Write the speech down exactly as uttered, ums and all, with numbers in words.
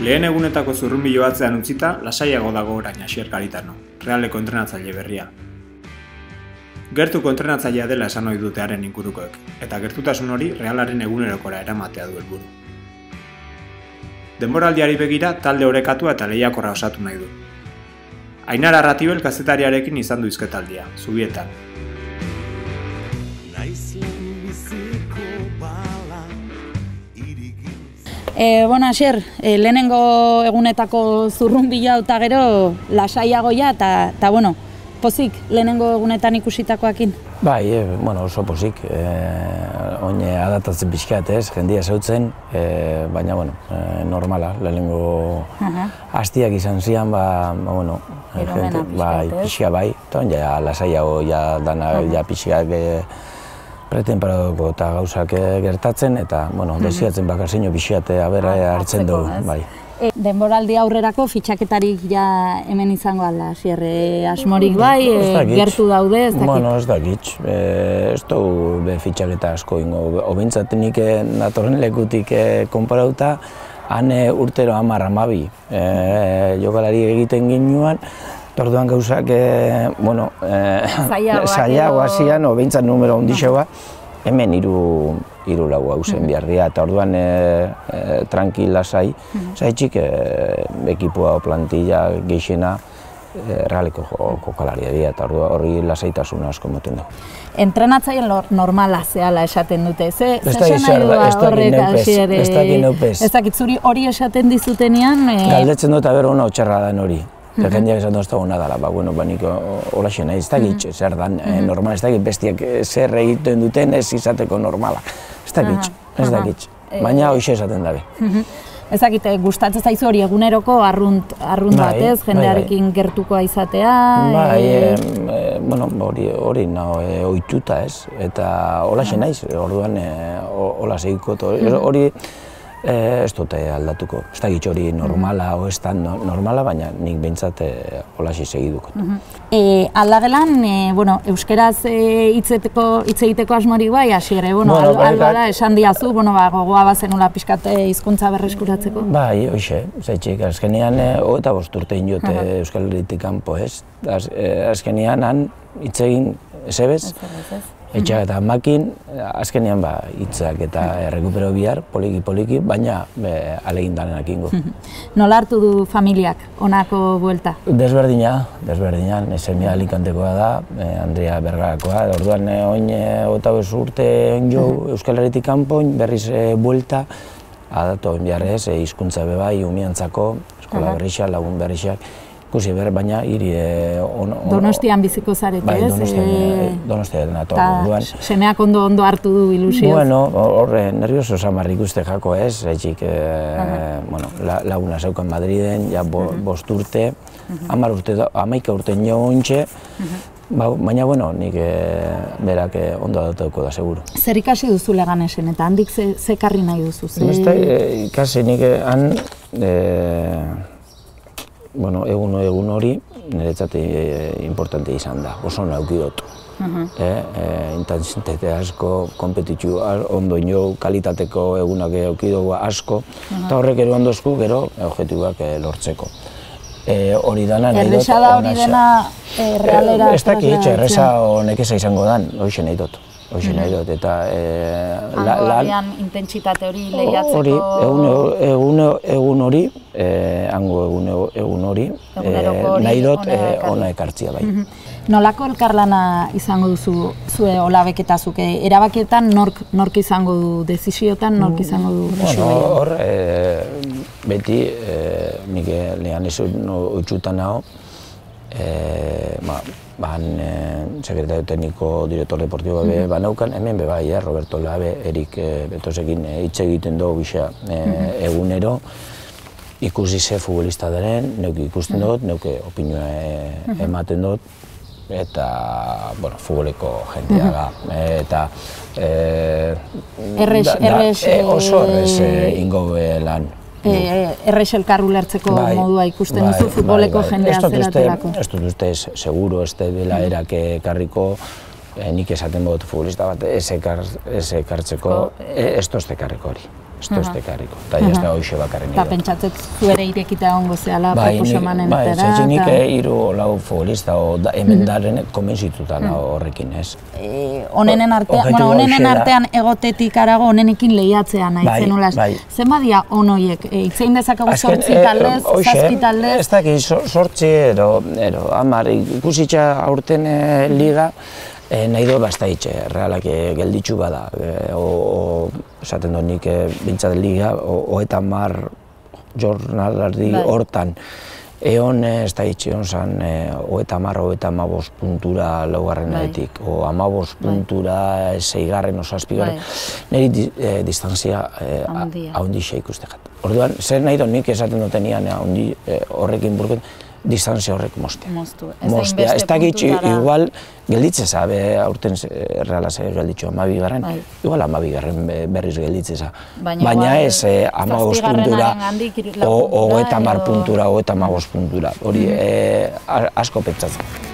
Lehen egunetako zurrunbilo batzean utzita, lasaiago dago orain Asier Garitano, Realeko entrenatzaile berria. Gertuko entrenatzailea dela esan ohi dute haren ingurukoek, eta gertutasun hori Realaren egunerokora eramatea du helburu. Denboraldiari begira talde orekatua eta lehiakorra osatu nahi du. Ainara Arratibel kazetariarekin izan du hizketaldia, Zubietan. E, bueno, Asier, e, lehenengo egunetako zurrunbila eta gero lasaiagoia eta, eta bueno, pozik lehenengo egunetan ikusitakoakin? Bai, e, bueno, oso pozik. E, oin adaptatzen pixkat ez, jendia zeutzen, e, baina, bueno, e, normala, lehenengo hastiak izan zian, ba, ba bueno, gente, bai, pixka bai, eta oin ja lasaiago, ja dana, ja pixkak e, pretemperadoko eta gauzak gertatzen, eta, bueno, desiatzen bakarzeino pixate abera hartzen dugu, bai. Denboraldi aurrerako fitxaketarik ja hemen izango alda, Asier, asmorik bai, gertu daude, ez dakit? Bueno, ez dakit, ez dugu be fitxaketa asko ingo, obintzat nik natorren lekutik konparauta, han urtero hamar hamabi jokalari egiten ginuan, orduan gauzak, bueno, zailago hasian, o behintzat numero ondixeua, hemen hiru hiru lau hauzen behar dira, eta orduan tranquil lasai, zaitxik ekipoa o plantilla geixena Realeko jokalaria dira, eta hori lasaitasuna asko moten du. Entrenatzaile normala zehala esaten dute, ze ez dakit neupez, ez dakit neupez. Ez dakit zuri hori esaten dizutenean? Galdetzen dut aber ona otxarra den hori. Jendeak esan dut ez dago nadala, ba, bueno, ba, nik holaxe nahi, ez dakit zer dan normal, ez dakit bestiak zer egiten duten ez izateko normala. Ez dakit, ez dakit, baina hoxe esaten dabe. Ez dakit, gustatzen zaizu hori eguneroko arrunt batez, jendearekin gertukoa izatea? Bai, bueno, hori naho ohituta ez, eta holaxe naiz, orduan hola segiko, hori ez dute aldatuko. Ez dakit hori normala o ez da normala, baina nik behintzat holaxe segiduko. Aldagelan, euskeraz hitz egiteko asmorik bai, Asier, albada esan diazu, gogoa bazenula pixkat hizkuntza berreskuratzeko? Bai, hoxe, zaitxik, azkenean hogeita bost urte inote Euskal Herritik kanpo ez. Azkenean han hitz egin ezebez, etxak eta makin, azkenean hitzak eta errekupero bihar, poliki-poliki, baina alegin danenak ingo. Nola hartu du familiak honako buelta? Desberdina, desberdina, semea Alicantekoa da, Andrea Bergarakoa, orduan oin hogeita bost urte jo Euskal Herritik kanpo, berriz buelta, adatu oin biharrez, hizkuntza bebai, umiantzako, eskola berrixak, lagun berrixak, ikusi behar, baina hiri... Donostian biziko zarete, ez? Bai, Donostian nato. Eta semeak ondo hartu du ilusioz? Bueno, horre, nervioso samarrik uste jako ez, etxik laguna zeukan Madriden, ja bost urte, hamar urte, hamaika urte nio ontxe, baina, bueno, nik berak ondo adatuko da, seguro. Zer ikasi duzu Leganesen, eta handik ze karri nahi duzu? Ikasi nik han... Bueno, egun egun hori niretzat importante izan da, oso nauki dut. Intensitate asko, kompetitu ondo ino, kalitateko egunak euki dugu asko, eta horrek ero ondozku gero objektibak lortzeko. Hori dana nahi dut... Erresa da hori dena Realera... Ez dakit, erresa honek eza izango dan, horixe nahi dut. Hoxe nahi dut, eta... Hango abian intentsitate hori lehiatzeko... Egun hori, hango egun hori, nahi dut ona ekartzia bai. Nolako elkarlana izango duzu zue olabeketazuk? Erabakietan nork izango du dezisiotan, nork izango du... Bueno, hor, beti, nik lehan ez oitzutan nago, ban sekretario tekniko, direktor deportibo be banaukan, hemen be bai, Roberto Labe, Erik Betosekin hitz egiten dugu bisa egunero, ikusi ze futbolista daren, neuke ikusten dut, neuke opinioa ematen dut, eta, bueno, futboleko jentea da, eta oso errez ingo lan. Errez elkarru lertzeko modua ikusten duzu futboleko jendea zeratelako? Ez dut uste, seguro, ez dela erak ekarriko, nik esaten dut futbolista bat ez ekartzeko, ez dut ekarriko hori. ez da ekarriko, eta ez da hoxe bakarren Eta pentsatzet zuere irekita ongo zehala proposamanen Bai, etera. nik hiru lau futbolista hemen daren konbentzituta horrekin, ez. Honenen artean egotetik arago honenekin lehiatzea nahi zenulaz. Zen badia onoiek, itzein dezakegu sortzi taldez, zazpi taldez? Ez daki, sortzi, ero, hamar, ikusitza aurten liga, nahi dut basta itxe, realak gelditzu bada, esaten dut nik bintzat liga, oeta mar jornalardi hortan, egon ez da itxe, egon zan, oeta mar, oeta amabos puntura laugarrenetik, o amabos puntura seigarren, o zazpigarren, niri distantzia haundixea ikustekat. Orduan, zer nahi dut nik esaten dutenian horrekin burken, distantzia horrek mostea. Mostea, ez dakit, igual, gelditzeza, aurten realaz gelditzu amabi garren, igual amabi garren berriz gelditzeza. Baina ez amabos puntura, o eta mar puntura, o eta amabos puntura, hori asko pentsatzen.